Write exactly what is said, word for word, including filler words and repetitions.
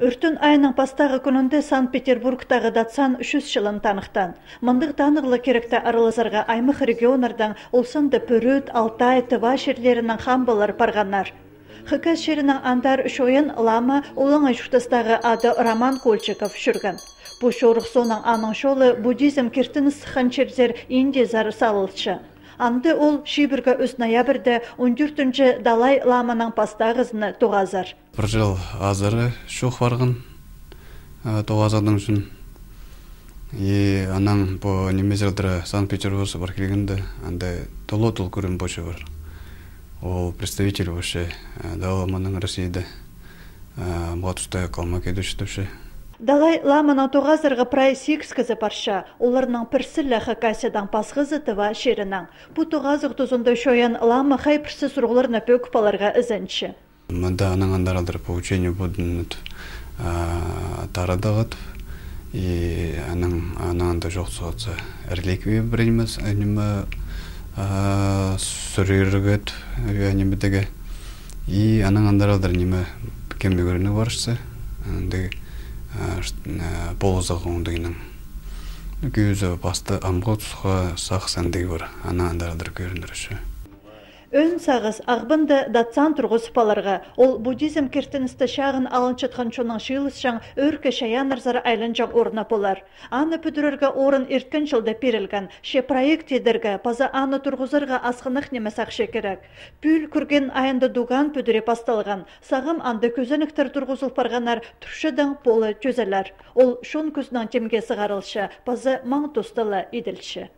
Үртін айының пастағы күнінде Санкт-Петербургтағы датсан үшүз жылын танықтан. Мындық танығылы керекті арылызарға аймық регионардан олсынды Пүріт, Алтай, Тыва шерлерінің хамбалар парғанар. Хыкас шерінің андар шойын лама олыңа жұқтастағы ады Роман Кольчиков жүрген. Бұ шорық соның аның шолы буддизм кертіні сыққан черзер Индия зары салылшы. Анды ол шибіргі үз ноябрьді он төртінші Далай ламаның пастағызыны тоғазар. Бір жыл азары шоқ барғын тоғазадың үшін. И анаң бұл немезелдері Санкт-Петербургсы бар келгенде, андай толы-тол көрін бөші бар. Ол представитель бөші Далай ламаның Россияда мұғатұстая қалма кедуші. Далай ламаның тоғазырғы прай сикскізі парша, оларының пірсілі хакасиядан пасғызы тыва шерінің. Бұ тоғазық тұзында шойын лама хай пірсі сұрғыларына пөкпаларға ізінші. Мұнда аның андаралдыр по учению будын тарадағыт, и аның анда жоқ соғытса реликвия бірініміз, әнімі сүрірігіт, әнімідегі, и аның андаралдыр немі кембе көріні баршысы, полозақ оңдығының көзі басты амға тұсқа сақсандығы бар, ана андарадыр көріндір үші. Өн сағыз ағбынды датсан тұрғыз паларға, ол буддизм кертіністі шағын алыншытқан чоның шиылыс жаң өркі шаянырзары айлын жаң орына болар. Аны пүдірерге орын ерткін жылда перілген, ше проект едірге, паза аны тұрғызырға асқынық немесақ шекерек. Пүл күрген айында дуған пүдіре пасталған, сағым анды көзініктір тұрғызыл парғанар тұршыдың полы чөзелер. Ол шон күзнің темге сығарылшы, паза маң тостылы еділші.